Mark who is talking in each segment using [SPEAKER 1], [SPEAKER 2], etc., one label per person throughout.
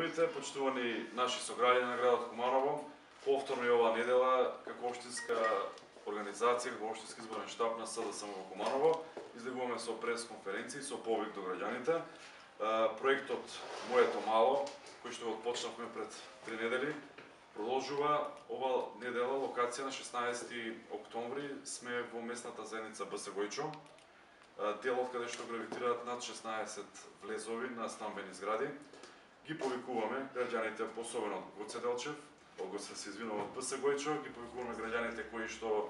[SPEAKER 1] здравјте, почитувани наши сограѓани на градот Куманово. Повторно и оваа недела, како општинска организација, како општински изборен штаб на СДСМ во Куманово, излегуваме со прес-конференции, со повик до граѓаните. Проектот Моето мало, кој што го почнавме пред 3 недели, продолжува ова недела, локација на 16 октомври, сме во местната заедница БС Гојчо, делот каде што гравитираат над 16 влезови на стамбени згради. Ги повикуваме граѓаните, особено од Гоце Делчев, од БС Гојчо, ги повикуваме граѓаните кои што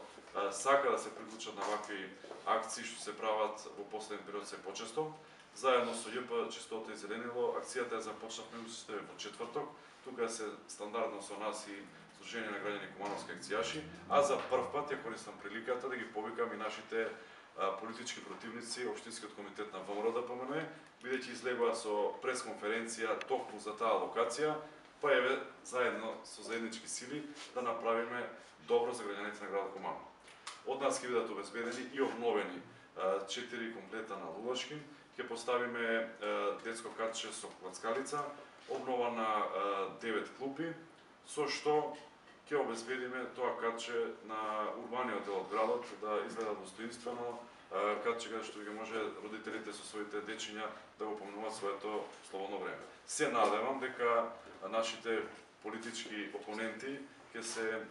[SPEAKER 1] сака да се приклучат на вакви акции што се прават во последен период се почесто. Заедно со ЈП Чистота и зеленило, акцијата ја започнавме во четврток. Тука се стандардно со нас и Сдружение на граѓани Кумановски акцијаши, а за прв пат ја користам приликата да ги повикам и нашите политички противници, Општинскиот комитет на ВМРО ДПМН, бидејќи излегува со пресконференција токму за таа локација, па еве заедно со заеднички сили да направиме добро за граѓаните на градот Куманово. Од нас ќе бидат обезбедени и обновени 4 комплета на лулашки, ќе поставиме детско катче со клацкалица, обнова на 9 клупи, со што ќе обезбедиме тоа катче на урбаниот дел од градот да изгледа достоинствено, катче каде што ќе може родителите со своите дечиња да го поминуваат своето слободно време. Се надевам дека нашите политички опоненти ќе се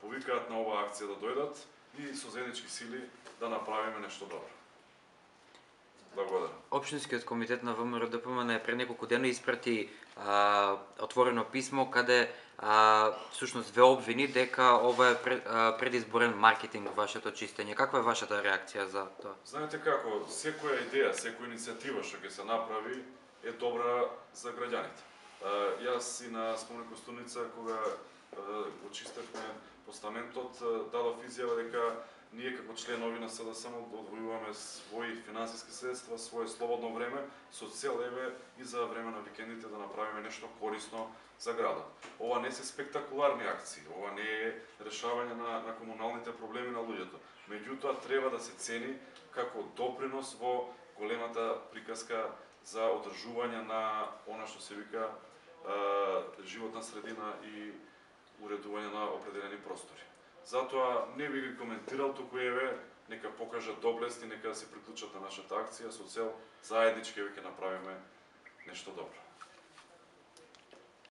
[SPEAKER 1] повикаат на оваа акција да дојдат и со заеднички сили да направиме нешто добро. Благодарам.
[SPEAKER 2] Општинскиот комитет на ВМРО ДПМН пред неколку дена испрати отворено писмо каде всушност ве обвини дека ова е предизборен маркетинг вашето чистење. Каква е вашата реакција за тоа?
[SPEAKER 1] Знаете како, секоја идеја, секоја иницијатива што ќе се направи е добра за граѓаните. Јас и на Спомен Костурница, кога го чистевме постаментот, дадов изјава дека ние како членови на СДСМ одвојуваме своји финансиски средства, свое слободно време, со цел еве и за време на викендите да направиме нешто корисно за градот. Ова не се спектакуларни акции, ова не е решавање на комуналните проблеми на луѓето. Меѓутоа треба да се цени како допринос во големата приказка за одржување на она што се вика животна средина и уредување на определени простори. Затоа не би ги коментирал, туку еве, нека покажат доблест и нека се приклучат на нашата акција со цел заеднички ќе направиме нешто добро.